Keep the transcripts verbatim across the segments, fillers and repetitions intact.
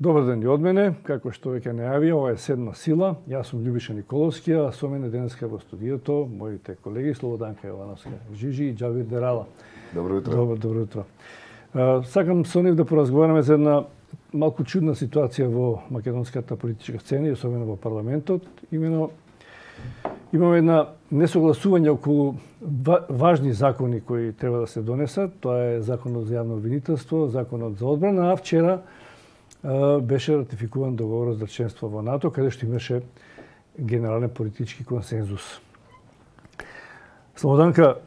Добар ден и од мене, како што веќе најавија, ова е Седма сила. Јас сум Љубиша Николовски, а со мене денеска во студиото моите колеги Слободанка Јовановска Жижи и Џавир Дерала. Добро утро. Добро, добро утро. Сакам со нив да поразговараме за една малку чудна ситуација во македонската политичка сцена и особено во парламентот. Имено имаме една несогласување околу важни закони кои треба да се донесат. Тоа е законот за јавно обвинителство, законот за одбрана, а вчера беше ратификуван договорот за членство во НАТО, каде што имаше генерален политички консензус. Слободанка,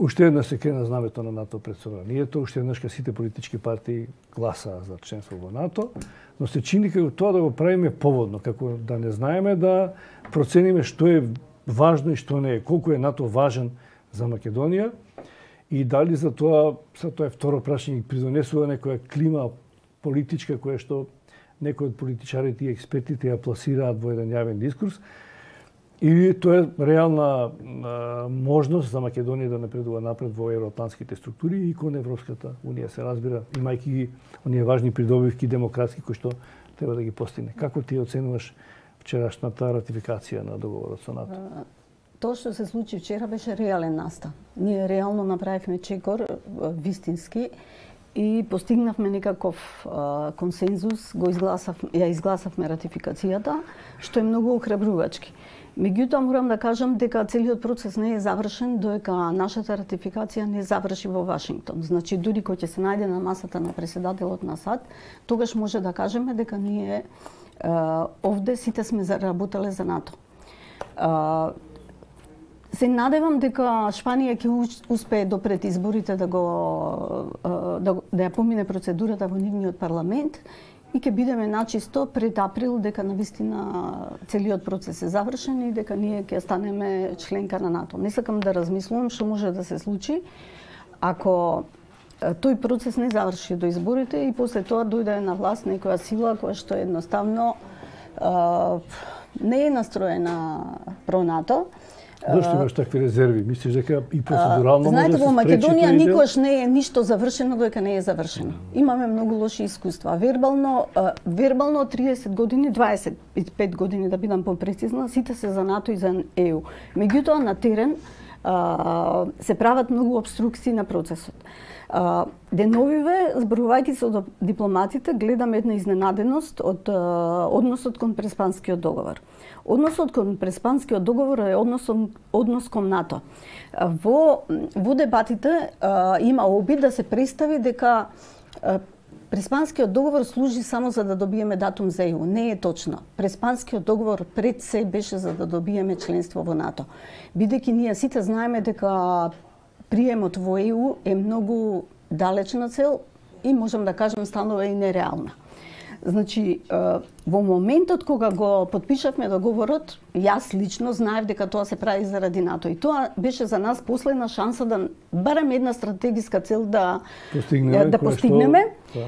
уште еднаш се крена знамето на НАТО пред собранието, уште еднаш сите политички партии гласаа за членство во НАТО, но се чини како тоа да го правиме поводно, како да не знаеме да процениме што е важно и што не е, колку е НАТО важен за Македонија и дали за тоа, за тоа е второ прашање, придонесува некоја клима политичка која што некои од политичарите и експертите ја пласираат во еден јавен дискурс, или тоа е реална а, можност за Македонија да напредува напред во евроатлантските структури и кон Европската унија, се разбира, имајќи ги оние важни придобивки демократски кои што треба да ги постигне. Како ти оценуваш вчерашната ратификација на договорот со НАТО? Тоа што се случи вчера беше реален настан. Ние реално направивме чекор вистински и постигнавме некаков а, консензус, го изгласав, ја изгласавме ратификацијата, што е многу охрабрувачки. Меѓутоа морам да кажам дека целиот процес не е завршен додека нашата ратификација не заврши во Вашингтон. Значи дури кога ќе се најде на масата на претседателот на САД, тогаш може да кажеме дека ние а, овде сите сме заработале за НАТО. А, Се надевам дека Шпанија ќе успее допред изборите да го да, да ја помине процедурата во нивниот парламент и ќе бидеме начисто пред април дека навистина целиот процес е завршен и дека ние ќе станеме членка на НАТО. Не сакам да размислувам што може да се случи ако тој процес не заврши до изборите и после тоа дојде на власт некоја сила која што едноставно а, не е настроена про НАТО. Зошто имаш такви резерви? Мислиш дека и процедурално може да се спречи? Знаете, во Македонија никош не е ништо завршено додека не е завршено. Имаме многу лоши искуства. Вербално, вербално триесет години, дваесет и пет години да бидам попрецизна, сите се за НАТО и за Е У. Меѓутоа на терен се прават многу обструкции на процесот. Деновиве, зборувајќи се од дипломатите, гледам една изненаденост од односот кон Преспанскиот договор. Односот кон Преспанскиот договор е однос, однос кон НАТО. Во, во дебатите а, има обид да се представи дека а, Преспанскиот договор служи само за да добиеме датум за Е У. Не е точно. Преспанскиот договор пред се беше за да добиеме членство во НАТО. Бидејќи ние сите знаеме дека приемот во Е У е многу далечна цел и можам да кажам станува и нереална. Значи, во моментот кога го подпишавме договорот, јас лично знаев дека тоа се прави заради НАТО. И тоа беше за нас последна шанса да барем една стратегиска цел да постигнеме. Да постигнеме. Што...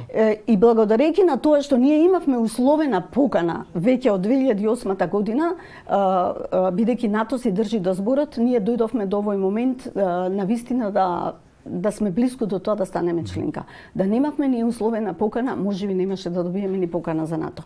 И благодарејќи на тоа што ние имавме условена покана веќе од две илјади и осма година, бидејќи НАТО се држи до зборот, ние дојдовме до овој момент навистина да да сме близко до тоа да станеме членка. Да немавме ни условена покана, можеби немаше да добиеме ни покана за НАТО.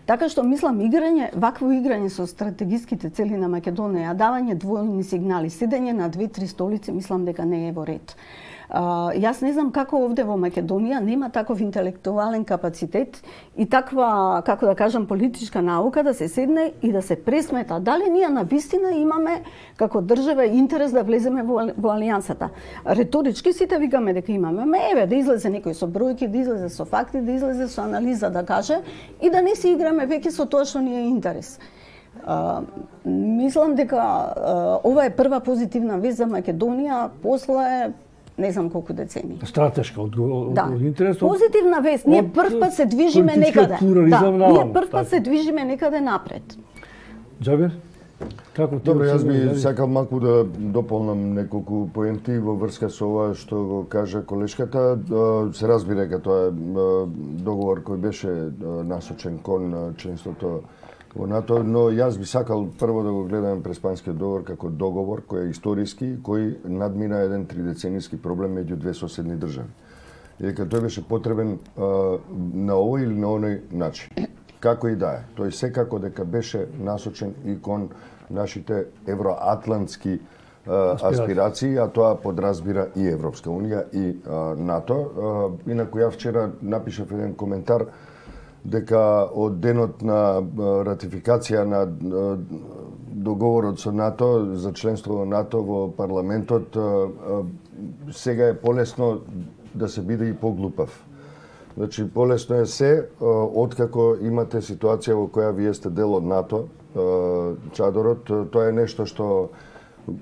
Така што мислам играње, вакво играње со стратегиските цели на Македонија, давање двојни сигнали, седење на две-три столици, мислам дека не е во ред. Uh, јас не знам како овде во Македонија нема таков интелектуален капацитет и таква, како да кажам, политичка наука да се седне и да се пресмета дали ние навистина имаме како држава интерес да влеземе во, во алијансата. Реторички сите викаме дека имаме, ме еве да излезе некој со бројки, да излезе со факти, да излезе со анализа да каже и да не се играме веќе со тоа што ни е интерес. Uh, мислам дека uh, ова е прва позитивна вест за Македонија после не знам колку децени. Стратешка од, од, да. од интерес. Позитивна вест. Ние прв пат се движиме некаде. Да, ние прв пат се движиме некаде напред. Џабир? Како ти? Добро, јас би сакал малку да дополнам неколку поенти во врска со ова што го кажа колешката. Се разбира дека тоа е договор кој беше насочен кон членството во НАТО, но јас би сакал прво да го гледам Преспанскиот договор како договор кој е историски, кој надмина еден тридецениски проблем меѓу две соседни држави. и дека тој беше потребен а, на овој или на оној начин. Како и да е, тој секако дека беше насочен и кон нашите евроатлантски а, аспирации, а тоа подразбира и Европска унија и а, НАТО. А, инаку ја вчера напишав еден коментар дека од денот на ратификација на договорот со НАТО за членство во НАТО во парламентот, сега е полесно да се биде и поглупав. Значи, полесно е се, откако имате ситуација во која вие сте дел од НАТО, чадорот, тоа е нешто што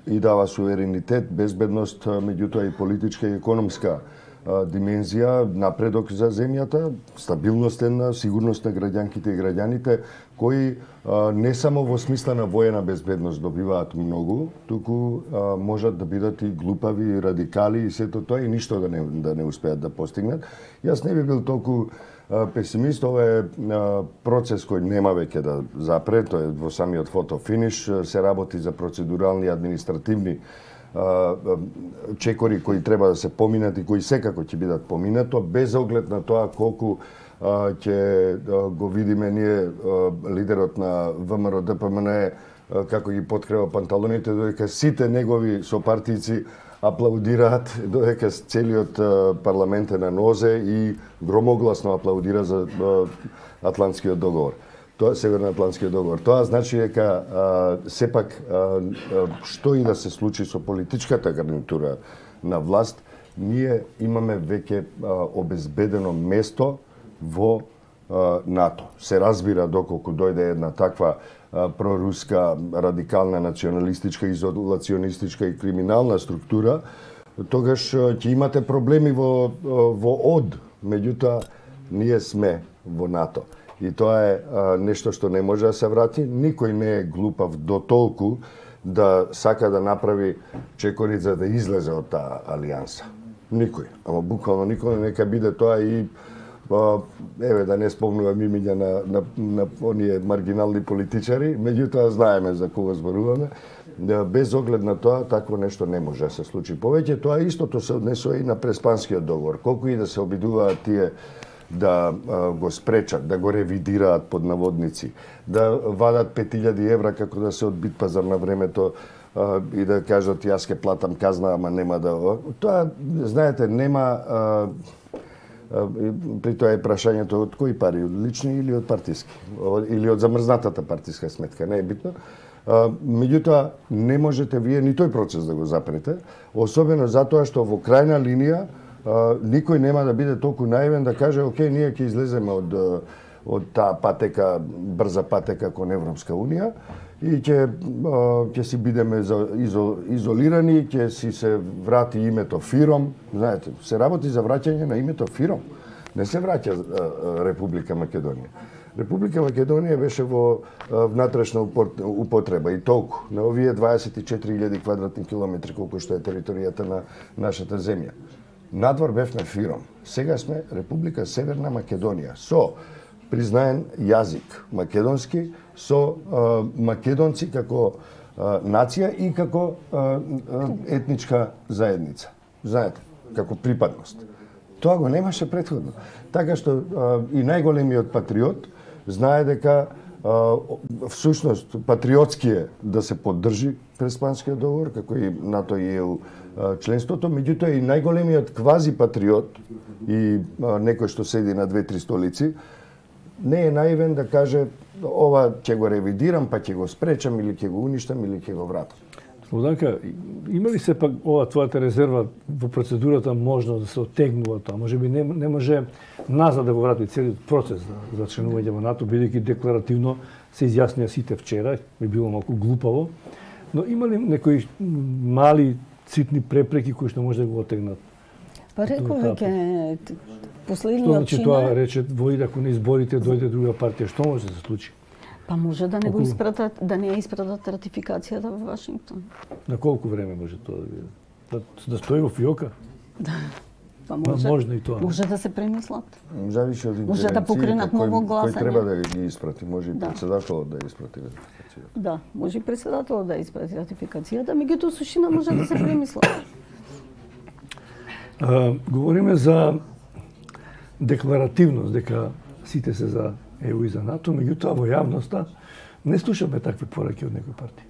и дава суверенитет, безбедност, меѓутоа и политичка и економска димензија, напредок за земјата, стабилност на сигурност на граѓанките и граѓаните, кои а, не само во смисла на воена безбедност добиваат многу, туку а, можат да бидат и глупави, и радикали и сето тоа и ништо да не, да не успеат да постигнат. Јас не би бил толку а, песимист, ова е а, процес кој нема веќе да запре, тоа е во самиот фотофиниш, се работи за процедурални и административни чекори кои треба да се поминат и кои секако ќе бидат поминато, без оглед на тоа колку ќе го видиме ние лидерот на ВМРО-ДПМН како ги подкрива панталоните, додека сите негови сопартици аплаудираат, додека целиот парламент е на нозе и громогласно аплаудира за Атлантскиот договор. Тоа е Северноатлантскиот договор. Тоа значи дека сепак а, што и да се случи со политичката гарнитура на власт, ние имаме веќе обезбедено место во а, НАТО. Се разбира доколку дојде една таква а, проруска, радикална, националистичка, изолационистичка и криминална структура, тогаш ќе имате проблеми во во од, меѓутоа ние сме во НАТО. И тоа е а, нешто што не може да се врати. Никој не е глупав до толку да сака да направи чекори за да излезе од таа алијанса. Никој. Ама буквално никој, нека биде тоа и а, еве да не спомнувам имиња на, на, на оние маргинални политичари, меѓутоа знаеме за кого зборуваме. Да, без оглед на тоа, такво нешто не може да се случи повеќе. Тоа истото се однесува и на Преспанскиот договор. Колку и да се обидуваат тие да а, го спречат, да го ревидираат под наводници, да вадат пет илјади евра како да се од Битпазар на времето а, и да кажат јас ке платам казна, ама нема да... Тоа, знаете, нема... А, а, при тоа е прашањето од кои пари, од лични или од партиски, или од замрзнатата партиска сметка, не е битно. А, меѓутоа, не можете вие ни тој процес да го запрете, особено затоа што во крајна линија Uh, никој нема да биде толку наивен да каже окей, ние ќе излеземе од од таа патека, брза патека кон Европска унија и ќе uh, ќе си бидеме изол, изолирани, ќе си се врати името ФИРОМ. Знаете, се работи за враќање на името ФИРОМ. Не се враќа uh, Република Македонија. Република Македонија беше во uh, внатрешна употреба и толку на овие дваесет и четири илјади квадратни километри колку што е територијата на нашата земја. Надвор бевме ФИРОМ. Сега сме Република Северна Македонија со признаен јазик македонски, со а, македонци како а, нација и како а, етничка заедница. Знаете, како припадност. Тоа го немаше претходно. Така што а, и најголемиот патриот знае дека а, всушност патриотски е да се поддржи Преспанскиот договор, како и НАТО и ЕУ членството, меѓутоа и најголемиот квази патриот и а, некој што седи на две-три столици, не е наивен да каже ова ќе го ревидирам, па ќе го спречам или ќе го уништам или ќе го вратам. Слободанка, има ли се пак ова твојата резерва во процедурата можно да се оттегнува тоа? Може би не, не може назад да го врати целиот процес за, за членување во НАТО, бидејќи декларативно се изјаснија сите вчера, би било малку глупаво, но има ли некои мали ситни препреки кои што може да го оттегнат? Па реков веќе последниот Што значи тоа рече вои ако на изборите дојде друга партија, што може да се случи? Па може да не го испратат, да не ја испратат ратификацијата во Вашингтон. На колку време може тоа да биде? Да, да стои во фиока? Да. Па може, можно и тоа. Може да се премислат. Зависи од може да покренат ново гласање. Кој треба да ги испрати, може и да. Председателот да испрати ратификацијата. Да, може и председателот да испрати ратификацијата, меѓутоа сушина може да се премислат. А, говориме за декларативност дека сите се за Е У и за НАТО, меѓутоа во јавноста не слушаме такви пораки од некои партии.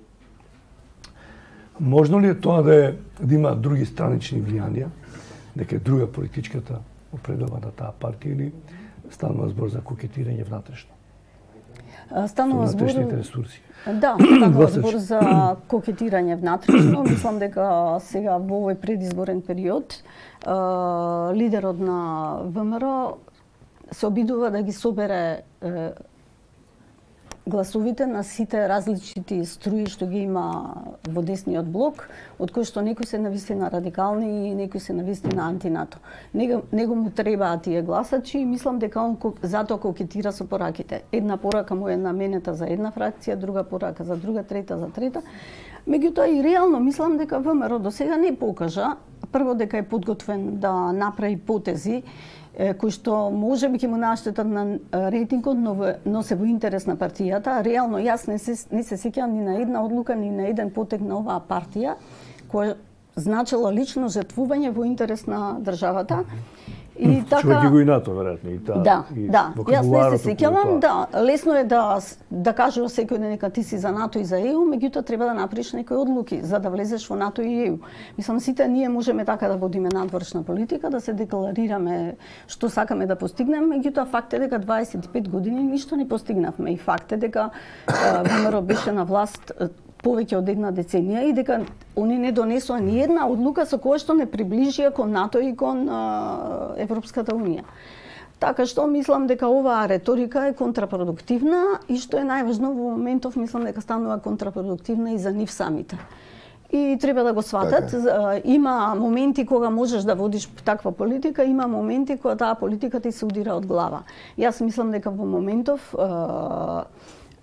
Можно ли е тоа да, е, да има други странични влијанија, дека е друга политичката определа на таа партија или станува збор за кокетирање внатрешно? Станува збор ресурси. Да, станува збор за кокетирање внатрешно. Мислам дека сега во овој предизборен период лидерот на ВМРО се обидува да ги собере гласовите на сите различити струи што ги има во десниот блок, од кои што некои се навистина радикални и некои се навистина антинато. Него, него му требаат тие гласачи и мислам дека он затоа кокетира со пораките. Една порака му е наменета за една фракција, друга порака за друга, трета за трета. Меѓутоа и реално мислам дека ВМРО до сега не покажа, прво дека е подготвен да направи потези кои што може би ќе му наштетат на рейтингот, но, но се во интерес на партијата. Реално јас не се, не се сеќавам ни на една одлука, ни на еден потег на оваа партија, која значила лично жртвување во интерес на државата. И така човек го и НАТО веројатно и таа. Да, и да. Јас не се сеќавам, да, лесно е да да кажува секој ден дека ти си за НАТО и за Е У, меѓутоа треба да направиш некои одлуки за да влезеш во НАТО и Е У. Мислам сите ние можеме така да водиме надворешна политика, да се декларираме што сакаме да постигнеме, меѓутоа факт е дека дваесет и пет години ништо не постигнавме и факт е дека ВМРО беше на власт повеќе од една деценија и дека они не донесоа ни една одлука со која што не приближија кон НАТО и кон а, Европската унија. Така што мислам дека оваа реторика е контрапродуктивна и што е најважно во моментов мислам дека станува контрапродуктивна и за нив самите. И треба да го сватат. Така. Има моменти кога можеш да водиш таква политика, има моменти кога таа политика ти се удира од глава. Јас мислам дека во моментов а,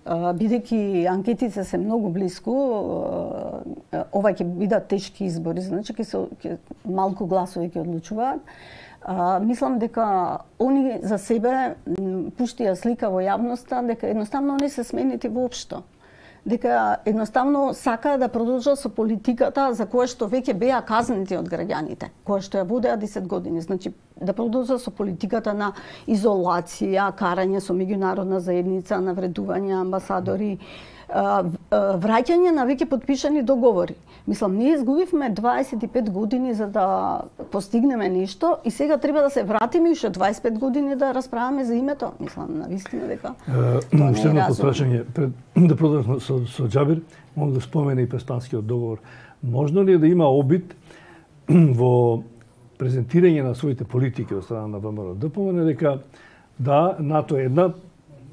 бидејќи анкетите се многу близко, ова ќе бидат тешки избори, значи ќе се ќе, малку гласови ќе одлучуваат. Мислам дека они за себе пуштија слика во јавноста дека едноставно не се сменети воопшто. Дека едноставно сака да продолжат со политиката за која што веќе беа казнети од граѓаните, која што ја водеа десет години. Значи, да продолжат со политиката на изолација, карање со меѓународна заедница, навредување амбасадори, враќање на веќе подпишани договори. Мислам, ние изгубивме дваесет и пет години за да постигнеме нешто и сега треба да се вратиме уште дваесет и пет години да расправаме за името. Мислам, навистина дека тоа уште едно потпрашање пред да продолжиме со, со Џабир, мога да спомене и Преспанскиот договор. Можно ли е да има обид во презентирање на своите политики од страна на ВМРО да помине дека да, НАТО е една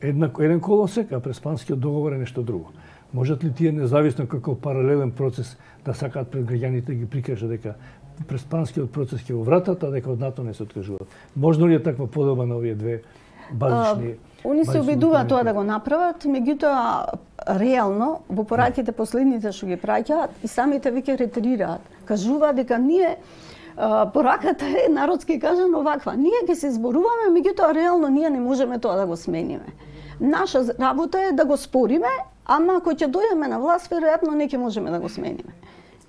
Една, еден колосек, а Преспанскиот договор е нешто друго. Можат ли тие независно како паралелен процес да сакаат пред граѓаните да ги прикажа дека Преспанскиот процес ќе го вратат, а дека од НАТО не се откажуваат? Можно ли е таква поделба на овие две базични? А, они се обидуваат тоа да го направат, меѓутоа реално во пораките последните што ги праќаат и самите веќе ретирираат. Кажуваат дека ние пораката е народски кажано оваква. Ние ќе се зборуваме, меѓутоа реално ние не можеме тоа да го смениме. Наша работа е да го спориме, ама ако ќе дојдеме на власт, веројатно не ќе можеме да го смениме.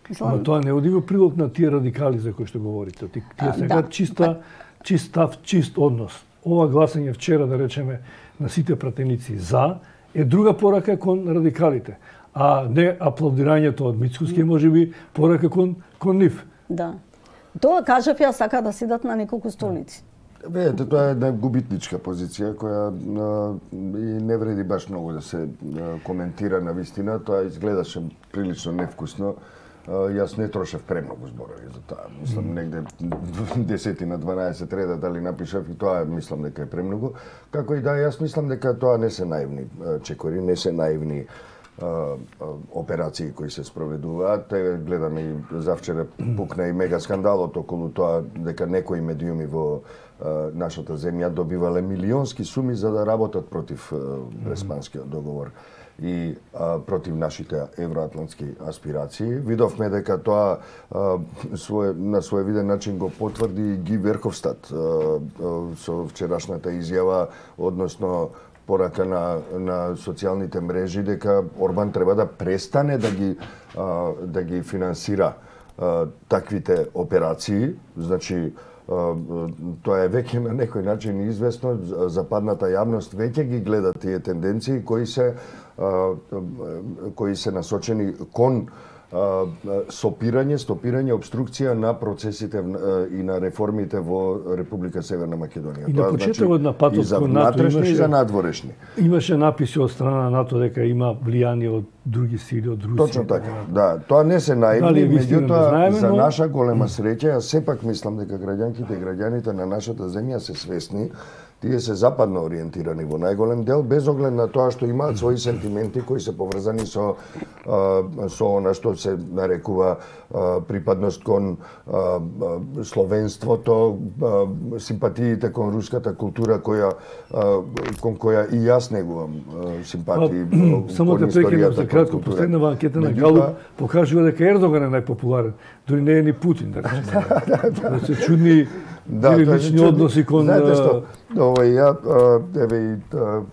Мислам... Но тоа не оди во прилог на тие радикали за кои што говорите. Тие сега да. чиста, чист став, чист однос. Ова гласање вчера, да речеме, на сите пратеници за, е друга порака кон радикалите. А не аплодирањето од Мицкоски, може би порака кон, кон нив. Да. Тоа кажав ја, сака да седат на неколку столици. Видете, тоа е една губитничка позиција која а, и не вреди баш многу да се а, коментира на вистина. Тоа изгледаше прилично невкусно. А, јас не трошев премногу зборови за тоа. Мислам, негде десетина, дванаесет реда дали напишав и тоа мислам дека е премногу. Како и да, јас мислам дека тоа не се наивни чекори, не се наивни операции кои се спроведуваат. Гледаме и завчера пукна и мега скандалот околу тоа дека некои медиуми во а, нашата земја добивале милионски суми за да работат против Преспанскиот договор и а, против нашите евроатлантски аспирации. Видовме дека тоа а, свое, на своевиден начин го потврди Ги Верховстад а, а, со вчерашната изјава, односно порака на, на социјалните мрежи дека Орбан треба да престане да ги, а, да ги финансира а, таквите операции. Значи, тоа е веќе на некој начин известно, западната јавност веќе ги гледа тие тенденции кои се кои се насочени кон сопирање, стопирање, обструкција на процесите и на реформите во Република Северна Македонија. И на почетокот на патот кон НАТО имаше и за надворешни. Имаше написи од страна на НАТО дека има влијание од други сили, од Русија. Точно така. Да, тоа не се наивни, меѓутоа за наша голема среќа, јас сепак мислам дека граѓанките и граѓаните на нашата земја се свесни. Тие се западно ориентирани во најголем дел, без оглед на тоа што имаат своји сентименти кои се поврзани со со она што се нарекува припадност кон словенството, симпатиите кон руската култура која кон која и јас негувам симпатии. Само те прекинам за кратко, последнава анкета на Галуп покажува дека Ердоган е најпопуларен, дури не е ни Путин, да речеме. Се чудни Да, или лични односи кон... Знаете што, овој, ја, еве и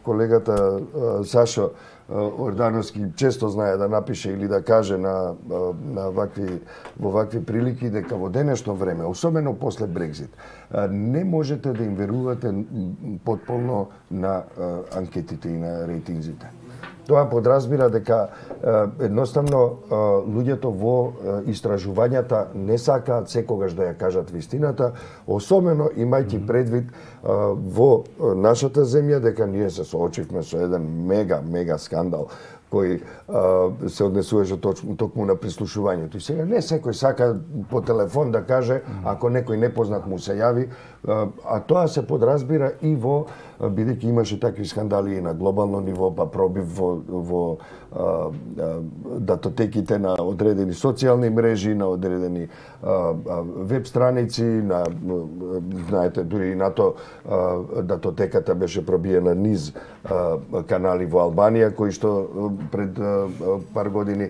колегата Сашо Ордановски често знае да напише или да каже на, на вакви, во вакви прилики дека во денешно време, особено после Брекзит, не можете да им верувате потполно на анкетите и на рейтинзите. Тоа подразбира дека едноставно луѓето во истражувањата не сакаат секогаш да ја кажат вистината, особено имајќи предвид во нашата земја дека ние се соочивме со еден мега мега скандал кој а, се однесуваше токму на прислушувањето. И сега не секој сака по телефон да каже ако некој непознат му се јави, а, а тоа се подразбира и во, бидејќи имаше такви скандали и на глобално ниво, па пробив во, во а, а, датотеките на одредени социјални мрежи, на одредени а, а, веб страници, на, знаете, дури и на то а, датотеката беше пробиена низ а, канали во Албанија, кои што пред а, пар години.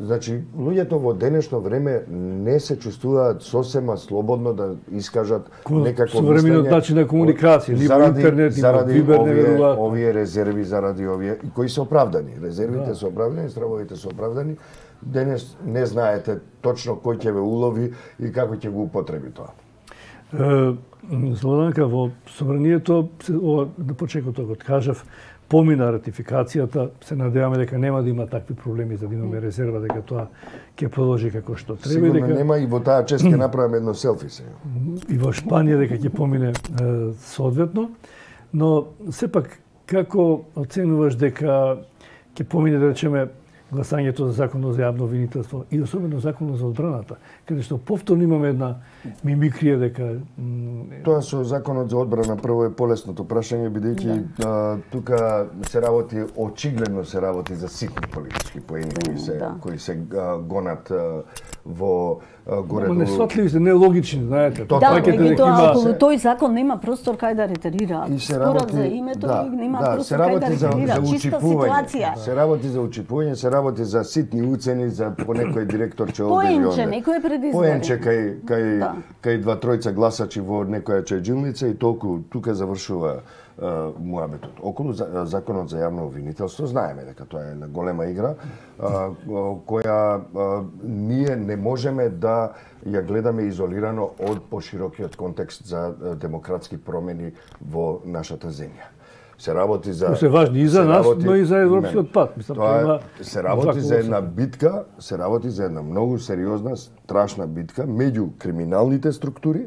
Значи, луѓето во денешно време не се чувствуваат сосема слободно да искажат некакво мислење. Современиот начин на комуникација, ни во интернет, ни во Вибер не веруваат. Овие резерви, заради овие, кои се оправдани. Резервите да. се оправдани, стравовите се оправдани. Денес не знаете точно кој ќе ве улови и како ќе го употреби тоа. Слободанка, во собранието, на почетокот од кажав, помина ратификацијата, се надеваме дека нема да има такви проблеми за да имаме резерва, дека тоа ќе продолжи како што треба. Сигурно дека... нема, и во таа чест ќе направиме едно селфи сега. И во Шпанија дека ќе помине е, соодветно, но сепак како оценуваш дека ќе помине, да речеме, гласањето за законот за јавно обвинителство и особено законот за одбраната, каде што повторно имаме една мимикрија дека... Тоа со законот за одбрана прво е полесното прашање, бидејќи да. тука се работи, очигледно се работи за ситни политички поени кои се, да. кои се а, гонат а, во горе. Не сватливи се, нелогични, знаете. Да, меѓутоа, околу тој закон нема простор кај да ретерира. И се работи за името да, и нема да, простор кај да ретерира. За, за Чиста ситуација. Се работи за учипување, се работи за ситни уцени за по некој директор че овде или онде. Поенче, некој предизбори. Поенче кај кај да. кај два тројца гласачи во некоја чајджилница и толку тука завршува муабетот. Околу за, законот за јавно обвинителство знаеме дека тоа е една голема игра а, која а, ние не можеме да ја гледаме изолирано од поширокиот контекст за демократски промени во нашата земја. Се работи за... Се важни и за нас, работи, но и за европскиот пат. Мислам, тоа е, се работи за една битка, се работи за една многу сериозна, страшна битка меѓу криминалните структури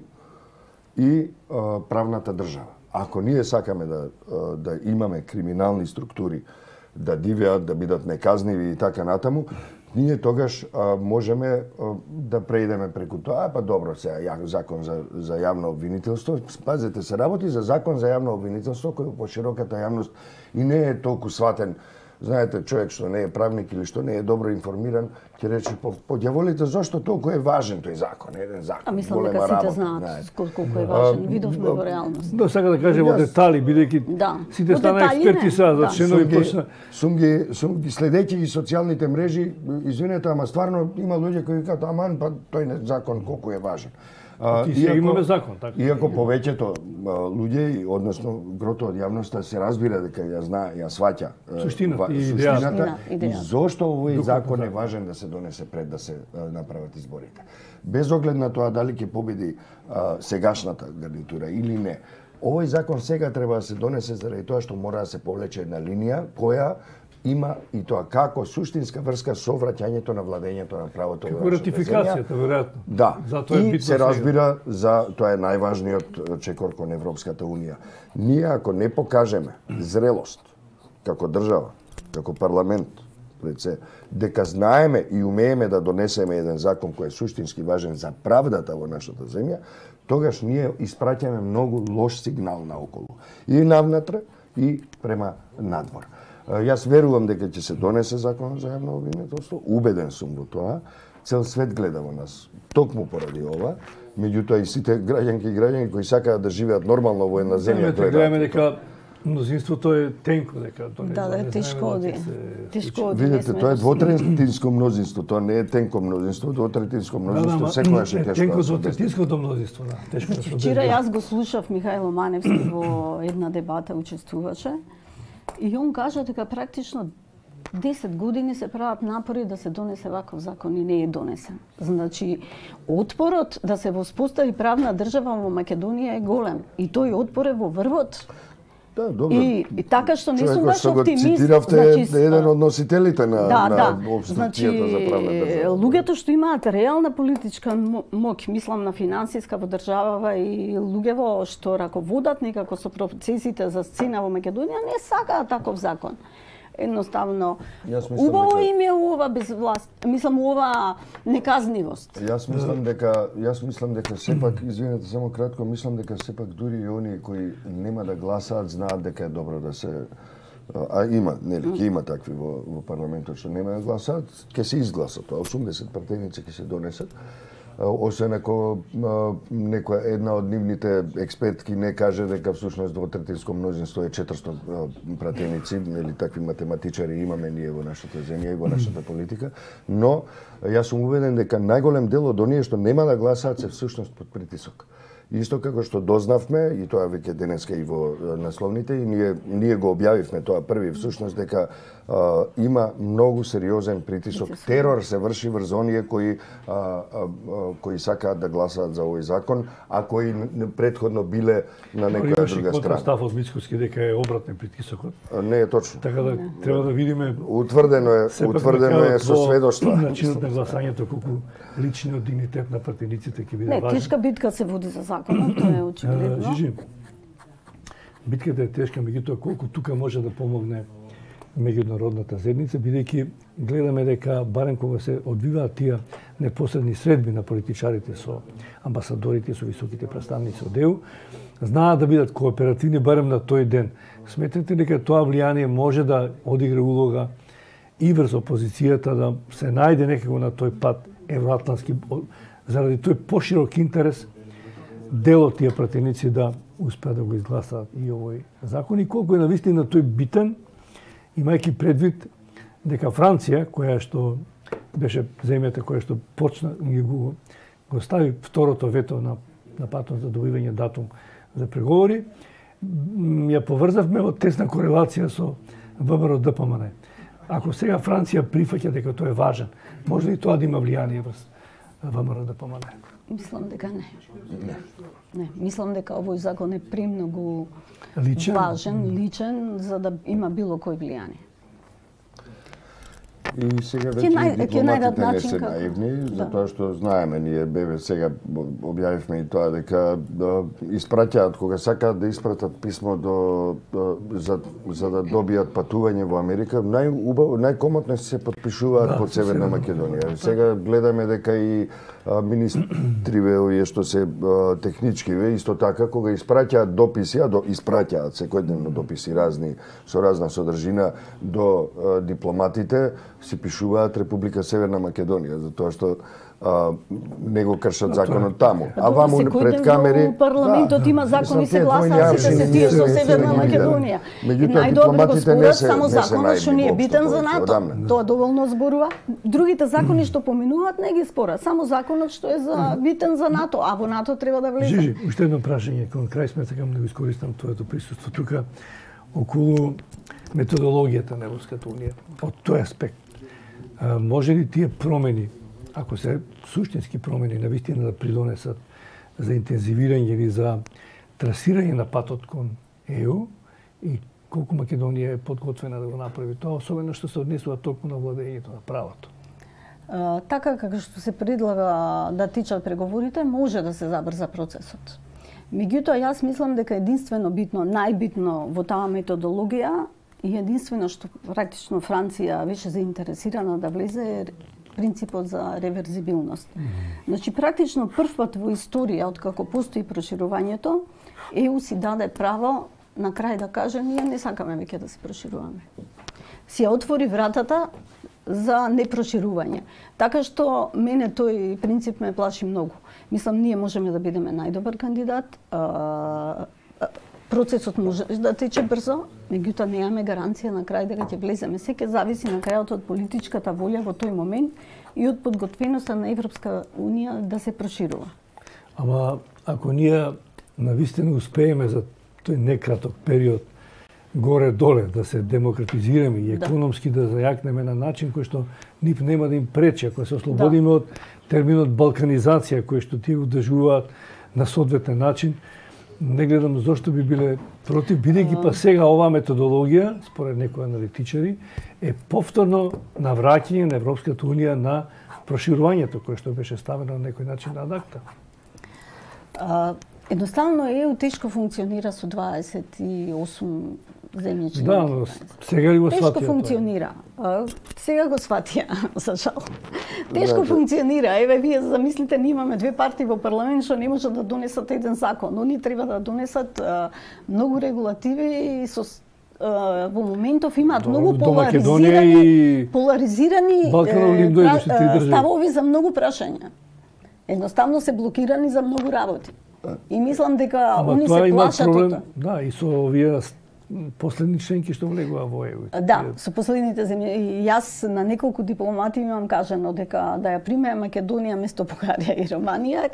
и а, правната држава. Ако ние сакаме да, да имаме криминални структури, да дивеат, да бидат неказниви и така натаму, ние тогаш а, можеме а, да преидеме преку тоа, па добро, сега закон за, за јавно обвинителство. Пазете, се работи за закон за јавно обвинителство кој по широката јавност и не е толку сватен. Знаете, човек што не е правник или што не е добро информиран, ќе рече по, по дјаволите зашто толку е важен тој закон, еден закон. А мислам дека сите знаат колку е важен, видовме во реалност. Да, сака да кажем во детали, бидејќи да. сите стана експерти сега за членови почна. Сум ги, сум ги следејќи ги социјалните мрежи, извинете, ама стварно има луѓе кои кажат, аман, па тој закон колку е важен. Ти сега имаме закон, така. Иако повеќето луѓе, односно грото од јавноста се разбира дека ја знае, ја сваќа суштината и суштината и зошто овој закон е важен да се донесе пред да се направат изборите. Без оглед на тоа дали ќе победи сегашната гарнитура или не. Овој закон сега треба да се донесе заради тоа што мора да се повлече една линија која има и тоа како суштинска врска со враќањето на владењето на правото во нашата ратификацијата, веројатно. Да. Затоа е и битно се разбира за тоа е најважниот чекор кон Европската унија. Ние ако не покажеме зрелост како држава, како парламент, пред се, дека знаеме и умееме да донесеме еден закон кој е суштински важен за правдата во нашата земја, тогаш ние испраќаме многу лош сигнал наоколу. И навнатре, и према надвор. Јас верувам дека ќе се донесе закон за јавно обвинителство, убеден сум во тоа. Цел свет гледа во нас, токму поради ова. Меѓутоа и сите граѓанки и граѓани кои сакаат да живеат нормално во една земја, гледаме дека мнозинството е тенко, дека тоа не. Да, да, тешко оди. Тешко оди. Видете, тоа е двотретинско мнозинство, тоа не е тенко мнозинство, двотретинско мнозинство секогаш е тешко. Тенко за третинското мнозинство, да, тешко да се. Вчера јас го слушав Михајло Маневски во една дебата учествуваше. И он кажа дека практично десет години се прават напори да се донесе ваков закон и не е донесен. Значи, отпорот да се воспостави правна држава во Македонија е голем. И тој отпор е во врвот. Да, добро. И, и така што не сум баш оптимист. Цитиравте значи, еден од носителите на, да, на да. обструкцијата значи, за правна држава. Луѓето што имаат реална политичка моќ, мислам на финансиска во државава и луѓево што раководат некако со процесите за сцена во Македонија, не сакаат таков закон. Едноставно, убаво дека... им е ова безвласт, мислам ова неказнивост. Јас мислам дека, јас мислам дека сепак, извинете само кратко, мислам дека сепак дури и оние кои нема да гласаат знаат дека е добро да се а има, нели, ќе има такви во, во парламентот што нема да гласаат, ќе се изгласат тоа, осумдесет партијници ќе се донесат. Освен ако некоја една од нивните експертки не каже дека всушност двотретинско мнозинство е четиристотини пратеници, нели такви математичари имаме ние во нашата земја и во нашата политика, но јас сум убеден дека најголем дел од оние што нема да гласаат се всушност под притисок. Исто како што дознавме, и тоа веќе денеска и во насловните, и ние, ние го објавивме тоа први, всушност дека а, има многу сериозен притисок. Терор се врши врз оние кои, а, а, кои сакаат да гласаат за овој закон, а кои предходно биле на некоја друга страна. Став од Мицкоски дека е обратен притисокот. Не е точно. Така да треба да видиме. Утврдено е, утврдено е со сведоштва. Начинот на гласањето колку личниот дигнитет на партијниците ќе биде важен. Не, тешка битка се води за законот, тоа е очигледно. Жижи, битката е тешка, меѓутоа колку тука може да помогне меѓународната заедница, бидејќи гледаме дека барем кога се одвиваат тие непосредни средби на политичарите со амбасадорите, со високите представници од Е У, знаат да бидат кооперативни барем на тој ден. Сметате дека тоа влијание може да одигра улога и врз опозицијата да се најде некако на тој пат евроатлантски, заради тој поширок интерес дел од тие пратеници да успеат да го изгласаат и овој закон, и колку е навистина тој битен, имајќи предвид дека Франција, која што беше земјата која што почна и го, го стави второто вето на, на патот за добивање датум за преговори, ја поврзавме од тесна корелација со Вэ Б Р Д П М Н. Ако сега Франција прифаќа дека тоа е важен, може ли тоа да има влијание врз Вэ Б Р Д П М Н? Мислам дека не. Не. Не, мислам дека овој закон е премногу личен, важен, личен, за да има било кој влијание. И сега веќе нај, дипломатите не се наивни, да. Затоа што знаеме, ние бебе сега објавивме и тоа дека да, испраќаат, кога сакаат да испратат писмо до, до за, за да добијат патување во Америка, најубаво, најкомотно се подпишуваат да, под Северна Македонија. Сега гледаме дека и а, министриве овие што се а, техничкиве, исто така, кога испраќаат дописи, а до, испраќаат секојдневно дописи разни, со разна содржина до а, дипломатите, се пишуваат Република Северна Македонија, затоа што а, не го кршат законот таму. А ваму пред камери... Во парламентот има закони се гласаат, сите се тие со Северна Македонија. Најдобро го спорат само законот што не е битен за НАТО. Тоа доволно зборува. Другите закони што поминуваат не ги спорат, само законот што е за битен за НАТО, а во НАТО треба да влезе. Жижи, уште едно прашање кон крај сме сакам да го искористам твоето присуство тука околу методологијата на Европската унија. Од тој аспект, а, може ли тие промени, ако се суштински промени, навистина да придонесат за интензивирање или за трасирање на патот кон Е У и колку Македонија е подготвена да го направи тоа, особено што се однесува толку на владењето на правото? Uh, така како што се предлага да тичат преговорите, може да се забрза процесот. Меѓутоа, јас мислам дека единствено битно, најбитно во таа методологија и единствено што практично Франција беше заинтересирана да влезе е принципот за реверзибилност. Mm-hmm. Значи, практично прв пат во историја, откако постои проширувањето, Е У си даде право на крај да каже ние не сакаме веќе да се прошируваме. Си ја отвори вратата за непроширување. Така што мене тој принцип ме плаши многу. Мислам, ние можеме да бидеме најдобар кандидат, а, процесот може да тече брзо, меѓутоа немаме гаранција на крај дека ќе влеземе. Се ќе зависи на крајот од политичката волја во тој момент и од подготвеноста на Европска унија да се проширува. Ама ако ние навистина успееме за тој некраток период горе-доле да се демократизираме и економски да, да зајакнеме на начин кој што нив нема да им пречи, ако се ослободиме да. од терминот балканизација кој што тие удржуваат на соодветен начин, не гледам зошто би биле против, бидејќи па сега оваа методологија, според некои аналитичари, е повторно навраќање на Европската унија на проширувањето кое што беше ставено на некој начин на адакта. А, едноставно Е У тешко функционира со дваесет и осум земји членки. Да, но сега ли го сватија? Тешко функционира. А, сега го сватија, за жал. Тешко функционира. Еве, вие замислите, ние имаме две партии во парламент што не можат да донесат еден закон. Они треба да донесат а, многу регулативи и со а, во моментов имаат до, многу поларизирани, и... поларизирани е, ставови за многу прашања. Едноставно се блокирани за многу работи. И мислам дека Ама они се плашат од тоа. Да, и со овие последни членки што влегува во Е У. Да, со последните земји. И јас на неколку дипломати имам кажано дека да ја приме Македонија место Бугарија и Романија,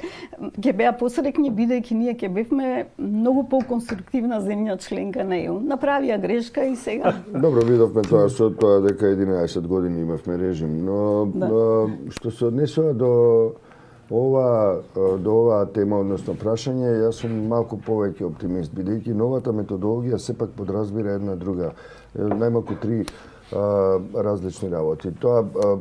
ќе беа посрекни бидејќи ние ќе бевме многу поконструктивна земја членка на Е У. Направија грешка и сега. Добро, видовме тоа со тоа дека единаесет години имавме режим, но да. Што се однесува до ова до оваа тема, односно прашање, јас сум малку повеќе оптимист, бидејќи новата методологија сепак подразбира една друга, најмалку три а, различни работи. Тоа а,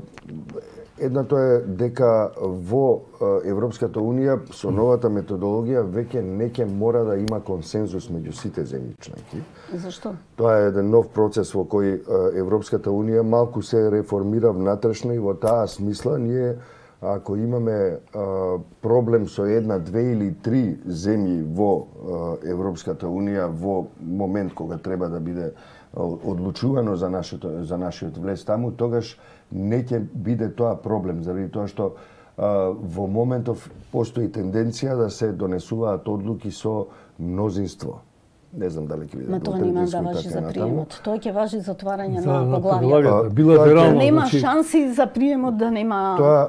едното е дека во Европската унија со новата методологија веќе не ќе мора да има консензус меѓу сите земји членки. Зашто? Тоа е еден нов процес во кој Европската унија малку се реформира внатрешно и во таа смисла ние ако имаме а, проблем со една, две или три земји во а, Европската унија во момент кога треба да биде а, одлучувано за нашето за нашиот влез таму, тогаш не ќе биде тоа проблем, заради тоа што а, во моментов постои тенденција да се донесуваат одлуки со мнозинство. Не знам дали ќе биде. Ма тоа нема да важи за приемот. Тоа ќе важи за отварање за, на поглавјата. Билатерално. Нема значи... шанси за приемот да нема. Тоа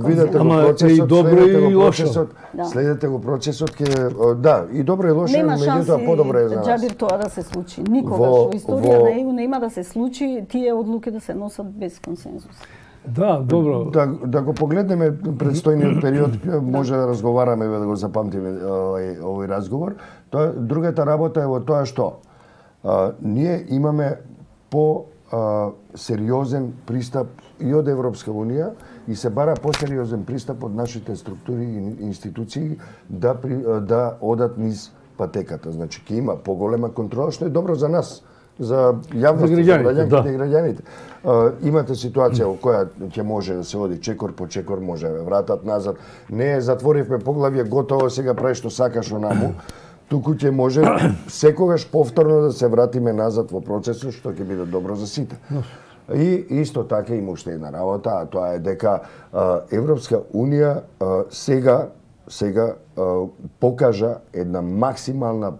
видете го процесот, следете го процесот, да. следете го процесот ќе да, и добро и лошо, меѓутоа подобро е за нас. Џабир тоа да се случи. Никогаш во, во историја во... на Е У нема да се случи тие одлуки да се носат без консензус. Да, добро. Да, да го погледнеме предстојниот период, може да разговараме, да го запамтиме овој, овој разговор. Тоа, другата работа е во тоа што а, ние имаме по а, сериозен пристап и од Европска унија и се бара посериозен пристап од нашите структури и институции да, при, да одат низ патеката. Значи, ќе има поголема контрола, што е добро за нас, за јавноста, за граѓаните да. и граѓаните. Uh, имате ситуација во која ќе може да се оди чекор по чекор, може да вратат назад. Не затворивме поглавје, готово, сега прави што сакаш онаму. Туку ќе може секогаш повторно да се вратиме назад во процесот, што ќе биде добро за сите. И исто така има уште една работа, а тоа е дека Европска Унија сега сега покажа една максимална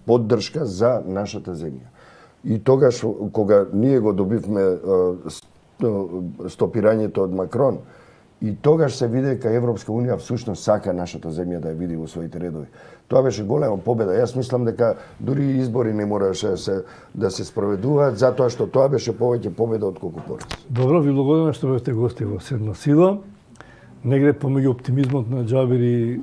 поддршка за нашата земја. И тогаш кога ние го добивме стопирањето од Макрон, и тогаш се види дека Европска Унија всушност сака нашата земја да ја види во своите редови. Тоа беше голема победа. Јас мислам дека дури избори не мораше да се, да се спроведуваат, затоа што тоа беше повеќе победа од колку пораз. Добро, ви благодарам што бевте гости во Седма сила. Негде помеѓу оптимизмот на Џабир и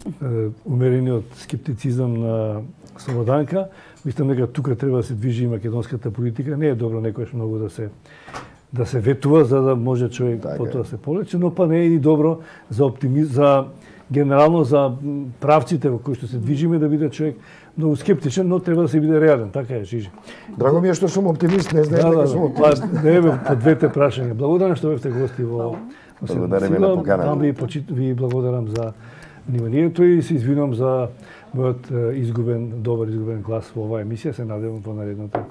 умерениот скептицизам на Слободанка, мислам дека тука треба да се движи македонската политика. Не е добро некојаш многу да се да се ветува за да може човек така потоа да се полечи, но па не е и добро за оптимизм, за генерално за правците во кои што се движиме да биде човек многу скептичен, но треба да се биде реален, така е, Жижи. Драго ми е што сум оптимист, не знаеш да, дека да, сум оптимист. Па, не е по двете прашања. Благодарам што бевте гости во Благодарам на поканата. Ви, почит, ви благодарам за вниманието и се извинувам за мојот изгубен, добар изгубен глас во оваа емисија. Се надевам во наредното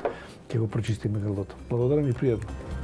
ќе го прочистиме грлото. Благодарам и пријатно.